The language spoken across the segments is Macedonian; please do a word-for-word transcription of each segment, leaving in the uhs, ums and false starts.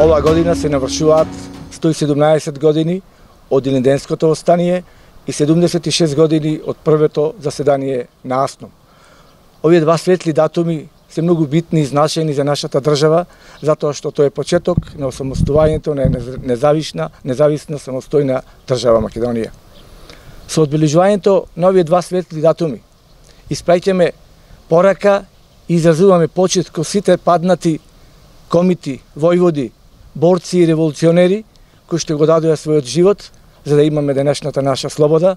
Ова година се навршуваат сто и седумнаесет години од Илинденското востание и седумдесет и шест години од првото заседание на АСНОМ. Овие два светли датуми се многу битни и значајни за нашата држава, затоа што тоа е почеток на осамостувањето на независна, независна самостојна држава Македонија. Со одбележувањето на овие два светли датуми испраќаме порака и изразуваме почит кон сите паднати комити, војводи, борци и револуционери кои што го дадоа својот живот за да имаме денешната наша слобода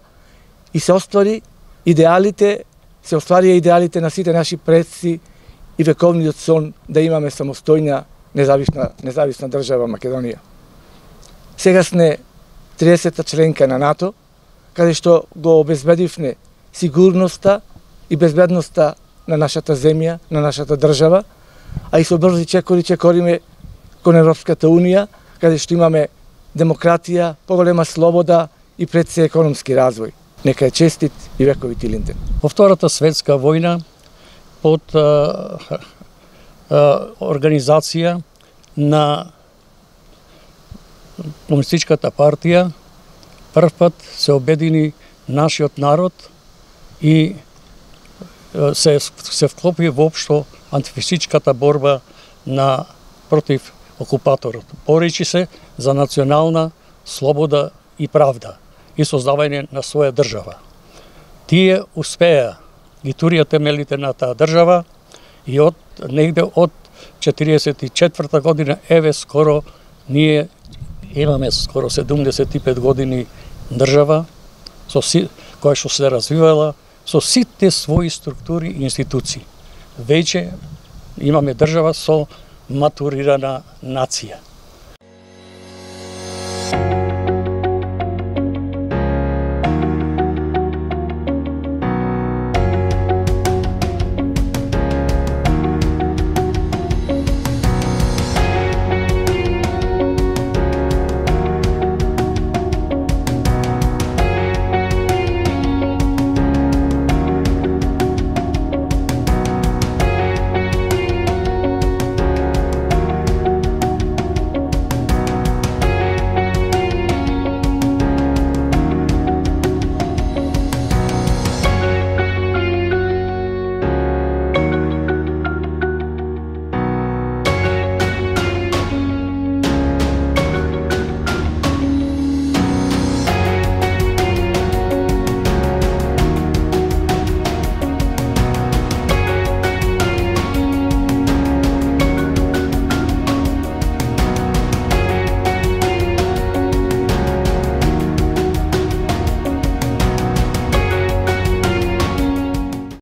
и се оствари идеалите, се остварија идеалите на сите наши предци и вековниот сон да имаме самостојна независна независна држава Македонија. Сега сме триесета членка на НАТО, каде што го обезбедивме сигурноста и безбедноста на нашата земја, на нашата држава, а и со брзи чекори чекориме кон Европската Унија, каде што имаме демократија, поголема слобода и пред се економски развој. Нека е честит и вековит Илинден. Во Втората светска војна, под а, а, организација на Комунистичката партија, прв пат се обедини нашиот народ и се, се вклопи воопшто антифашистичката борба на против окупаторот. Боречи се за национална слобода и правда и создавање на своја држава. Тие успеа, ги турија темелите на таа држава и од негде од четириесет и четврта година, еве скоро ние имаме скоро седумдесет и пет години држава со си, која што се развивала со сите своји структури и институции. Веќе имаме држава со матурирана нација.